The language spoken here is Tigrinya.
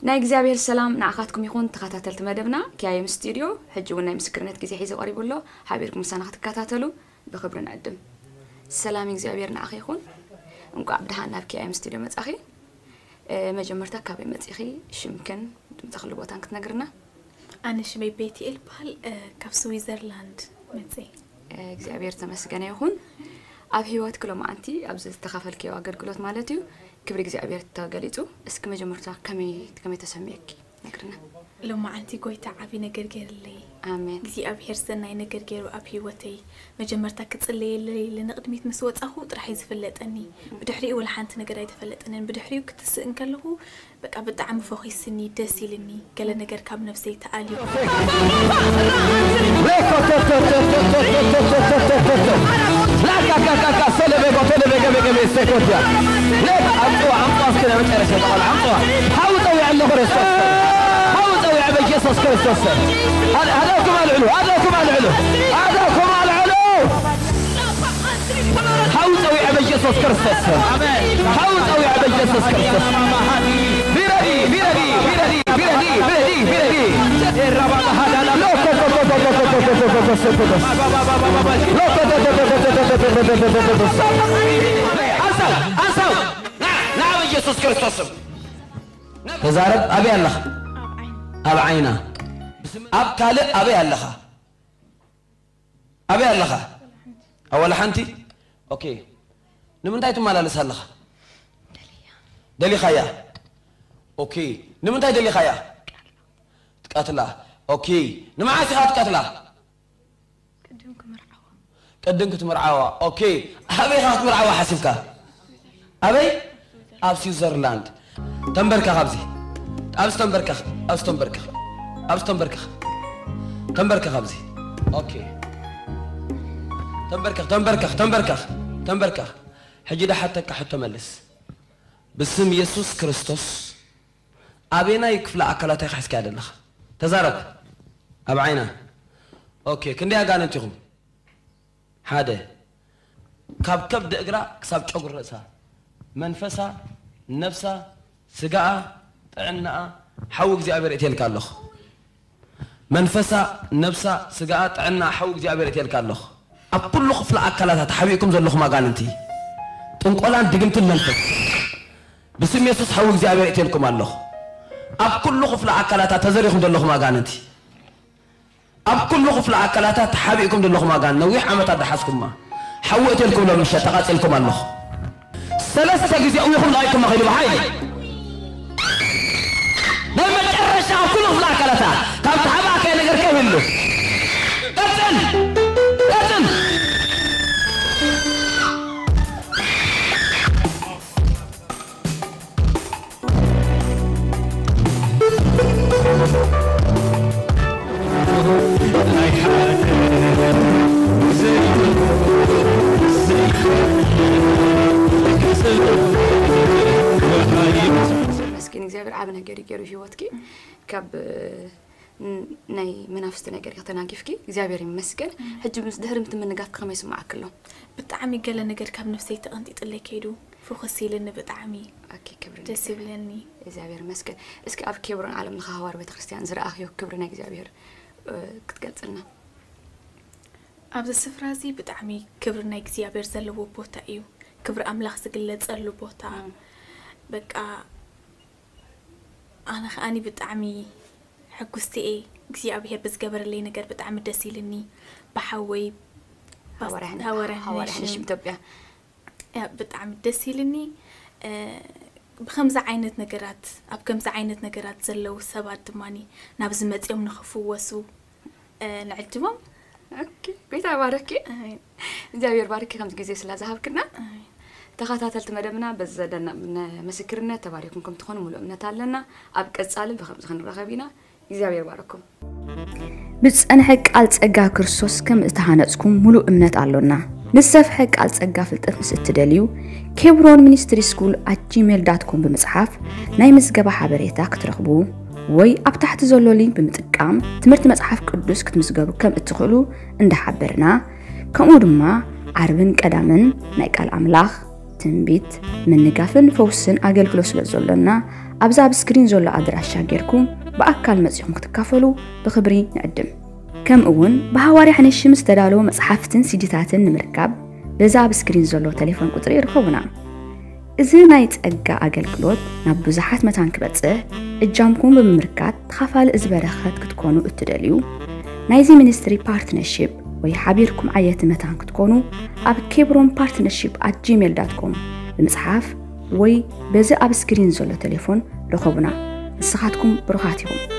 ናይ እግዚኣብሔር ሰላም ንዓኻትኩም ይኹን፣ ተኸታተልቲ መደብና ኪያየም ስቱድዮ። ሕጂ እውን ናይ ምስክርነት ግዜ ሒዙ ቀሪቡ ኣሎ። ሓቢርኩም ምሳና ክትከታተሉ ብኽብሪ ንዕድም። ሰላም እግዚኣብሔር ንዓኺ ይኹን። እንቋዕ ብደሓን ናብ ኪያየም ስቱድዮ መጻኺ። እ፣ መጀመርታ ካበይ መጺኺ? ሽምክን ትምጻኽሉ ቦታን ክትነግርና? ኣነ ሽመይ ቤትኤል ይበሃል። እ፣ ካብ ስዊዘርላንድ መጽእ። እግዚኣብሔር ተመስገነ ይኹን። ኣብ ህይወትኪ ሎማዓንቲ ኣብዚ ዝተኻፈልክዮ ኣገልግሎት ማለት እዩ፣ ክብሪ እግዚኣብሔር ተገሊጹ። እስኪ መጀመርታ ከመይ፣ ከመይ ተሰሚዕኪ ነግርና። ሎማዓንቲ ጎይታ ዓቢ ነገር ገይርለይ። ኣሜን። እግዚኣብሔር ሰናይ ነገር ገይሩ ኣብ ህይወተይ። መጀመርታ ክጽለየለይ ኢለ ንቕድሚት ምስ ወጻኹ ጥራሕ እዩ ዝፍለጠኒ። ብድሕሪኡ ወላ ሓንቲ ነገር ኣይተፈለጠንን። ብድሕሪኡ ክትስእ እንከለኹ በቃ ብጣዕሚ ፈኺስኒ፣ ደስ ኢልኒ። ገለ ነገር ካብ ነብሰይ ተኣልዩ። ላካካካካ ሰለበ ጎተለበ ገበ ገበ ሰኮትያ። ሌክ ኣምጽዋ፣ ኣምጽዋ እስኪ ናይ መጨረሻ ተቓል ኣምጽዋ። ሓው ጸዊዐ ኣለኹ ክርስቶስ። ሓው ጸዊዐ በኢየሱስ ክርስቶስ። ኣዳኩም ኣልዕሉ፣ ኣዳኩም ኣልዕሉ፣ ኣዳኩም ኣልዕሉ። ሓው ጸዊዐ በኢየሱስ ክርስቶስ። ሓው ጸዊዐ በኢየሱስ ክርስቶስ። ቢረዲ ቢረዲ ቢረዲ ቢረዲ ቢረዲ ቢረዲ ሓሳብ ሓሳብ ና ና በኢየሱስ ክርስቶስ ስም ተዛረብ። ኣበይ ኣለኻ? ኣብ ዓይና። ኣብ ካልእ ኣበይ ኣለኻ? ኣበይ ኣለኻ? ኣብ ዋላ ሓንቲ? ኦኬ። ንምንታይ ትመላለስ ኣለኻ? ደሊኻያ? ኦኬ። ንምንታይ ደሊኻያ? ትቀትላ። ኦኬ። ንመዓስ ኢኻ ትቀትላ? ቅድም ክትምርዓዋ። ኦኬ። ኣበይ ኢኻ ክትምርዓዋ ሓሲብካ? ኣበይ? ኣብ ስዊዘርላንድ። ተንበርከኽ ኣብዚ። ኣብዚ ተንበርከኽ፣ ኣብዚ ተንበርከኽ፣ ኣብዚ ተንበርከኽ። ተንበርከኽ ኣብዚ። ኦኬ። ተንበርከኽ፣ ተንበርከኽ፣ ተንበርከኽ፣ ተንበርከኽ። ሕጂ ድሓተካ ሕቶ መልስ። ብስም የሱስ ክርስቶስ ኣበየናይ ክፍለ ኣካላታ ኢኻ ሒዝካያ ዘለኻ? ተዛረብ። ኣብ ዓይና። ኦኬ፣ ክንደይ ኣጋንንቲ ኢኹም? ሓደ። ካብ ከብዲ እግራ ክሳብ ጨጉሪ ርእሳ፣ መንፈሳ፣ ነብሳ፣ ስጋኣ፣ ጥዕናኣ ሓዊ እግዚኣብሔር እትየልካ ኣለኹ። መንፈሳ፣ ነብሳ፣ ስጋኣ፣ ጥዕናኣ ሓዊ እግዚኣብሔር እትየልካ ኣለኹ። ኣብ ኩሉ ክፍለ ኣካላታ ተሓቢእኩም ዘለኹም ኣጋንንቲ፣ ጥንቆላን ድግምትን መንፈስ፣ ብስም የሱስ ሓዊ እግዚኣብሔር እትየልኩም ኣለኹ። ኣብ ኩሉ ክፍለ ኣካላታ ተዘሪኹም ዘለኹም ኣጋንንቲ፣ ኣብ ኩሉ ክፍለ ኣካላታ ተሓቢእኩም ዘለኹም ኣጋንንቲ፣ ነዊሕ ዓመታት ዝሓዝኩማ፣ ሓዊ እትየልኩም ሎም ምሸት ተቓጺልኩም ኣለኹ። ሰለስተ ግዜ እዊኹም ለቒቕኩም መኺዱ ብሓይሊ። ናይ መጨረሻ ኣብ ኩሉ ክፍለ ኣካላታ ካብ ተሓባእካዮ ነገር ከይህሉ። ቀጽል! ቀጽል! መስኪን እግዚኣብሔር ዓብ ነገር ይገሩ ህይወትኪ ካብ ን- ናይ መናፍስቲ ነገር ኢኺ ተናጊፍኪ እግዚኣብሔር ይመስገን። ሕጂ ምስ ድሕሪ ምትምንጋፍ ከመይ ይስማዓኪ ኣሎ? ብጣዕሚ ገለ ነገር ካብ ነፍሰይ ተቐንጢጥለይ ከይዱ ፍኹስ ኢልኒ ብጣዕሚ ኦኬ፣ ክብሪ ደስ ይብለኒ። እግዚኣብሔር ይመስገን። እስኪ ኣብ ኬብሮን ዓለም ለኸ ሃዋር ቤተክርስትያን ዝረኣኽዮ ክብሪ ናይ እግዚኣብሔር እ፣ ክትገልጽልና? ኣብዚ ስፍራ እዚ ብጣዕሚ ክብሪ ናይ እግዚኣብሔር ዘለዎ ቦታ እዩ። ክብሪ ኣምላኽ ዝግለጸሉ ቦታ። በቃ ኣነ ከኣኒ ብጣዕሚ ሕጉስቲ እየ እግዚኣብሔር ብዝገበረለይ ነገር ብጣዕሚ ደስ ኢልኒ። ብሓወይ ሃዋርያ ሓንሽ ኢትዮጵያ ብጣዕሚ ደስ ኢልኒ። ብከምዚ ዓይነት ነገራት ኣብ ከምዚ ዓይነት ነገራት ዘለዉ ሰባት ድማ ናብዚ መፅኦም ንክፍወሱ ንዕድሞም። ጎይታ ባረኪ። እግዚኣብሔር ባርኪ ከምዚ ግዜ ስላ ዝሃብክና። ተኸታተልቲ መደብና በዚ ዘለና ምስክርነት ተባሪኩም ከም ትኾኑ ሙሉእ እምነት ኣለና። ኣብ ቀጻሊ ብከምዚ ክንራኸብ ኢና። እግዚኣብሔር ባረኩም። ብዝጸንሐ ቃል ጸጋ ክርስቶስ ከም እተሃነጽኩም ሙሉእ እምነት ኣሎና። ንዝሰፍሐ ቃል ጸጋ ፍልጠት ምስ እትደልዩ፣ ኬብሮን ሚኒስትሪ ስኩል ኣት ጂሜል ዳት ኮም ብምጽሓፍ ናይ ምዝገባ ሓበሬታ ክትረኽቡ ወይ ኣብ ታሕቲ ዘሎ ሊንክ ብምጥቃም ትምህርቲ መጽሓፍ ቅዱስ ክትምዝገቡ ከም እትኽእሉ እንዳሓበርና፣ ከምኡ ድማ ዓርብን ቀዳምን ናይ ቃል ኣምላኽ፣ ትንቢት፣ ምንጋፍን ፈውስን ኣገልግሎት ስለ ዘሎና፣ ኣብዚ ኣብ ስክሪን ዘሎ ኣድራሻ ጌርኩም ብኣካል መጺኹም ክትካፈሉ ብኽብሪ ንዕድም። ከምኡ እውን ብሃዋርያ ሕንሽም ዝተዳለዉ መጽሓፍትን ሲዲታትን ንምርካብ በዚ ኣብ ስክሪን ዘሎ ቴሌፎን ቁጽሪ ይርከቡና። እዚ ናይ ጸጋ ኣገልግሎት ናብ ብዙሓት መታን ክበጽሕ እጃምኩም ብምምርካት ተኻፋሊ እዚ በረኸት ክትኮኑ እትደልዩ፣ ናይዚ ሚኒስትሪ ፓርትነርሺፕ ወይ ሓቢርኩም ዓየቲ መታን ክትኮኑ ኣብ ኬብሮን ፓርትነርሺፕ ኣት ጂሜል ዳት ኮም ብምጽሓፍ ወይ በዚ ኣብ ስክሪን ዘሎ ቴሌፎን ርኸቡና። ንስኻትኩም ብሩኻት ኢኹም።